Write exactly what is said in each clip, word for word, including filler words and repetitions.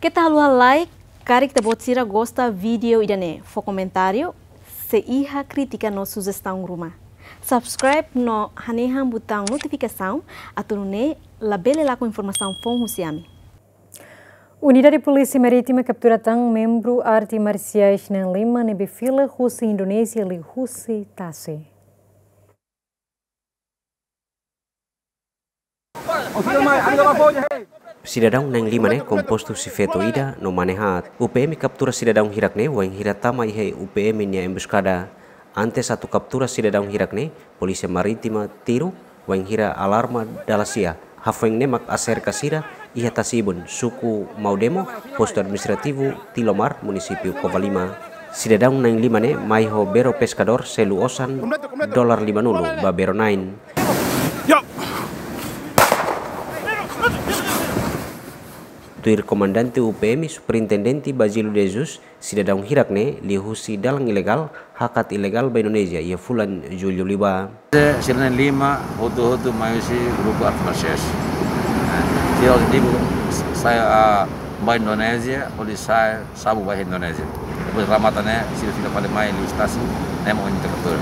Keta haluha like, karik ita-boot sira gosta vídeo ida-ne'e, fó komentáriu, se iha krítika no sujestaun ruma. Subscribe no hanehan butaun notifikasaun, atu nune'e labele lakon informasaun foun husi ami. Unidade Polísia Marítima kaptura tan membru arte marsiais na'in lima ne'ebé fila husi Indonézia liuhusi tasi. Sidadaun na'in lima ne'e kompostu husi feto ida no mane haat. U P M kaptura sidadaun hirak ne'e wainhira tama iha U P M nia embuskada. Antes atu kaptura sidadaun hirak ne'e, Polísia Marítima tiru wainhira alarma dala sia. Hafoin ne'e mak aserka sira iha tasi-ibun, suku Maudemo, postu administrativu Tilomar, munisípiu Covalima. Sidadaun na'in lima ne'e mai ho bero peskadór selu osan dolar lima-nulu ba bero-na'in. Tuir Komandante U P M, Superintendente Basílio de Jesus, sidadaun hirak ne'e liuhusi dalan ilegál hakat ilegál ba Indonézia iha fulan Jullu liubá. Sira na'in lima hotu-hotu mai husi grupu arte marsiais. Sira hotu-hotu sai, ah, ba Indonézia, hodi sai sabu ba Indonézia. Depois remata ne'e, sira fila fali mai liu tasi, ne'e mak ohin ita kaptura.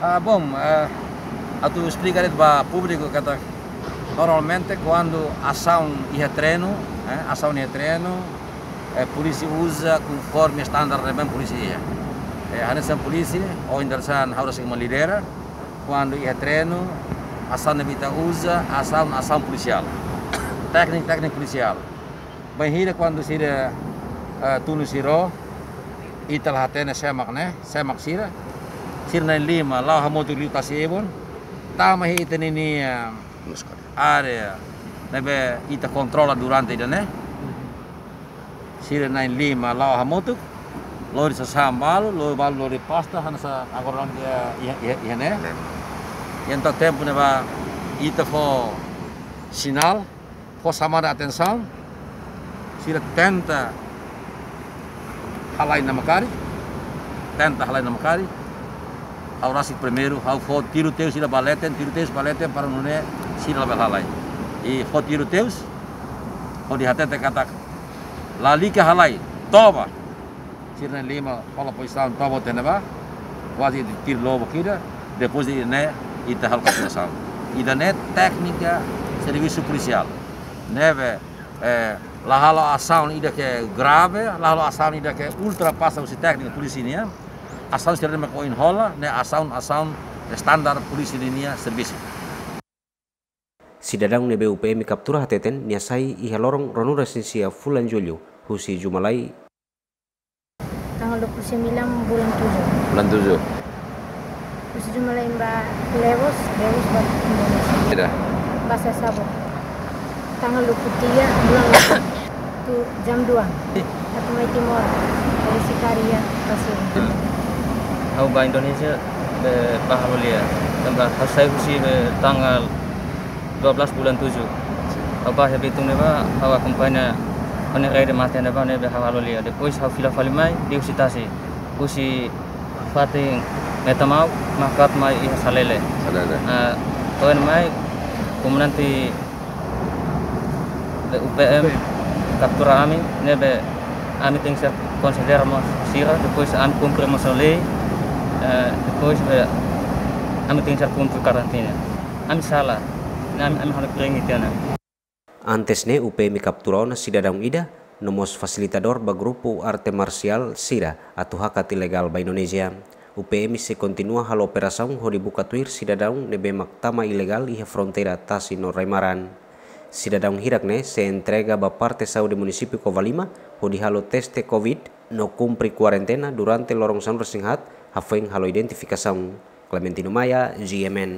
Ah, bom, eh, atu esplika de'it ba públiku katak normalmente kuandu asaun iha terrenu, eh, asaun iha terrenu, eh, polísia uza konforme standar ne'ebé polísia iha. Eh, hanesan polísia, ohin dadeer-saan ha'u rasik mak lidera, kuandu iha terrenu, asaun ne'ebé ita uza, asaun, asaun polisiál. Tékniku, tékniku polisiál. Bainhira kuandu sira, eh, tunu sira, ita la hatene sé mak ne'e, sé mak sira. Sira na'in lima, la'o hamutuk liu tasi-ibun. Tama iha ita-nia, eh, área ne'ebé ita kontrola durante ida-ne'e. Sira na'in lima la'o hamutuk, lori sasán balu, lori balu lori pasta, hanesan agora iha, iha, iha, iha ne'e. Entaun tempu ne'ebá ita fó sinál, fó xamada atensaun, sira tenta halai namkari, tenta halai namkari. Ha'u rasik primeiru, ha'u fó tiroteus sira ba leten, tiroteus ba leten para nune'e sira labele halai. I fó tiroteus, hodi hatete katak lalika halai, toba. Sira na'in lima hola pozisaun toba tiha ne'ebá, kuaze tiru lobos ida, depois de ne'e ita halo kapturasaun. Ida-ne'e téknika servisu polisiál. Ne'ebé, eh, la halo asaun ida ke grave, la halo asaun ida ke ultrapasa husi téknika polísia nian. Asaun sira-ne'e mak ohin hola, ne'e asaun, asaun standar polísia ninia servisu. Sidadaun ne'ebé U P M kaptura hateten nia sai iha loron ruanulu-resin-sia fulan Jullu, husi Jumalai. Tanggal dua puluh sembilan bulan tujuh. Bulan tujuh. Husi Jumalai ba Lewos, Lewos ba Indonézia. Ida. Ba Sasabu. Tanggal dua puluh tiga bulan delapan. Tu jam dua. Atu mai Timor. Dari Sikaria, Pasir. Hmm. Ha'u ba Indonézia, be, ba halo lia. Tanba ha'u sai husi, be, tanggal dua belas bulan tujuh. Ha'u ba iha Bitung ne'ebá, ha'u akompaña ho nia rede mate ne'ebá ne'ebé ha'u halo lia. Depois ha'u fila fali mai, liuhusi tasi. Husi fatin Metamau, mak hakat mai iha Salele. Salele. Ah, to'o iha ne'e mai, komandante be U P M kaptura ami, ne'ebé ami tenke ser konsidera mós sira, depois ami kumpre mós lei, eh, depois be ami tenke ser kumpre karantina. Ami sala, ne'e ami, ami halo kring tiha ona. Antes ne'e U P M kaptura ona sidadaun ida, no mós fasilitadór ba grupu arte marsiál sira atu hakat ilegál ba Indonézia. U P M sei kontinua halo operasaun hodi buka tuir sidadaun ne'ebé mak tama ilegál iha fronteira tasi no rai-maran. Sidadaun hirak ne'e sei entrega ba parte saúde munisípiu Covalima hodi halo teste covid no kumpre kuarentena durante loron sanulu-resin-haat hafoin halo identifikasaun. Clementino Maia, G M N.